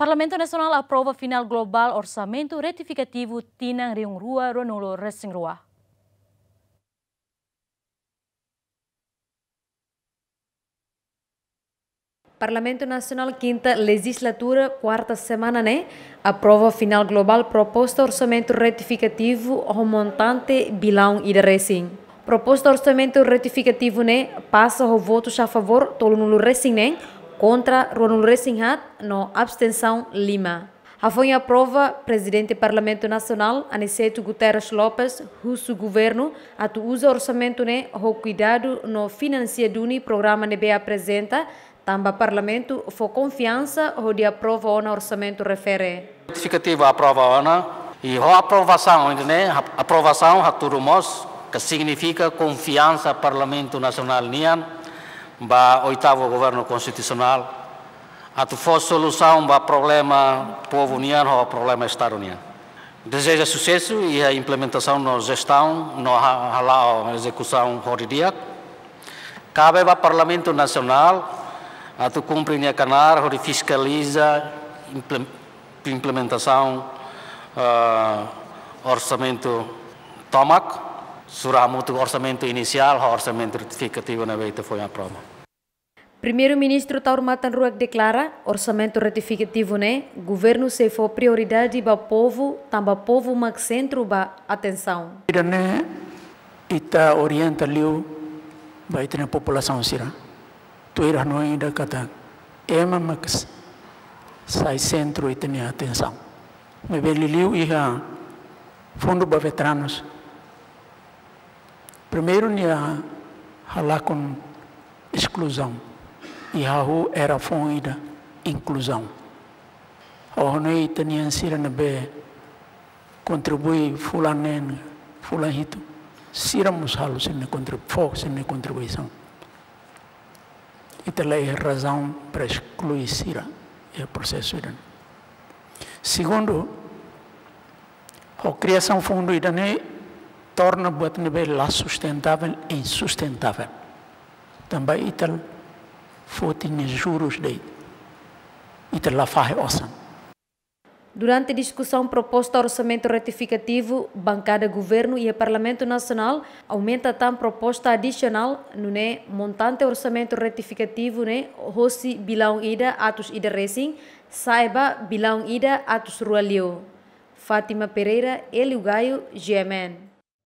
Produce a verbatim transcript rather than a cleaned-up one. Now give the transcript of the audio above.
Parlamentu Nasionál aprova finál globál orsamentu retifikativu tinan rihun rua ruanulu resin rua. Parlamentu Nasionál kinta lejizlatura kuarta semana ne'e aprova finál globál proposta orsamentu retifikativu ho montante bilaun ida resin. Proposta orsamentu retifikativu ne'e pasa ho votus a favór tolunulu resin neen, kontra ruanulu resin haat no abstensaun lima. Hafoin aprova, Prezidente Parlamentu Nasionál, Aniceto Guterres Lopes, husu governu atu uza orsamentu ne'e ho kuidadu no finansia duni programa ne'ebé aprezenta, tanba Parlamentu fó konfiansa hodi aprova ona orsamentu refere. Retifikativu aprova ona, i ho aprovasaun ne'e, aprovasaun hatudu mós ke signifika konfiansa Parlamentu Nasionál nian ba oitavu governu konstitusionál atu fó solusaun ba problema povu nian ho problema Estadu nian. Dezeja susesu iha implementasaun no jestaun no ha-, hala'o ezekusaun ho di'ak. Kabe ba Parlamentu Nasionál atu kumpre nia knaar hodi fiskaliza implem-, implementasaun, eh, orsamentu tomak, sura hamutuk orsamentu inisiál ho orsamentu retifikativu ne'ebé ita foin aprova. Primeiru-Ministru Taur Matan Ruak deklara, orsamentu retifikativu ne'e, governu sei fó prioridade ba povu, tanba povu mak sentru ba atensaun. Ida-ne'e ita orienta liu ba ita-nia populasaun sira. Tuir hanoin ida katak ema mak s-, sai sentru ita-nia atensaun. Maibé liuliu iha fundu ba veteranus. Primeiru nia halakon eskluzaun. I hahú era foun ida inkluzaun. Ha'u hanoin ita-nian sira ne'ebé kontribui fulan neen, fulan hitu. Sira mós halo sira-nia kontribu-, fó sira-nia kontribuisaun. Ita la iha razaun para esklui sira iha prosesu ida-ne'e. Segundu, ho kriasaun fundu ida-ne'e torna buat ne'ebé la sustentável insustentável. Tanba ita foti nia jurus de'it. Ita la fahe osan. Durante diskusaun proposta orsamentu retifikativu, bankada governu iha Parlamentu Nasionál aumenta tan proposta adisionál, nune'e montante orsamentu retifikativu ne'e hosi bilaun ida atus ida resin, sa'e ba bilaun ida atus rua liu. Fátima Pereira, Hélio Gaio, G M N.